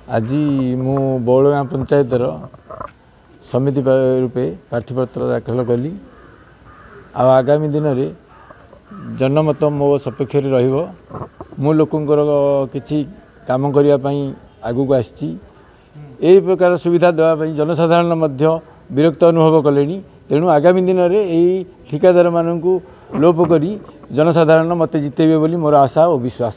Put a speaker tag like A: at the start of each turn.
A: ଆଜି ମୁଁ ବଉଳଗାଁ ପଞ୍ଚାୟତର ସମିତି ରୂପେ ପ୍ରାର୍ଥୀପତ୍ର ଦାଖଲ କଲି, ଆଉ ଆଗାମୀ ଦିନରେ ଜନମତ ମୋ ସପକ୍ଷରେ ରହିବ। ମୁଁ ଲୋକଙ୍କର କିଛି କାମ କରିବା ପାଇଁ ଆଗକୁ ଆସିଛି। ଏହି ପ୍ରକାର ସୁବିଧା ଦେବା ପାଇଁ ଜନସାଧାରଣ ମଧ୍ୟ ବିରକ୍ତ ଅନୁଭବ କଲେଣି। ତେଣୁ ଆଗାମୀ ଦିନରେ ଏହି ଠିକାଦାରମାନଙ୍କୁ ଲୋପ କରି ଜନସାଧାରଣ ମୋତେ ଜିତେଇବେ ବୋଲି ମୋର ଆଶା ଓ ବିଶ୍ୱାସ।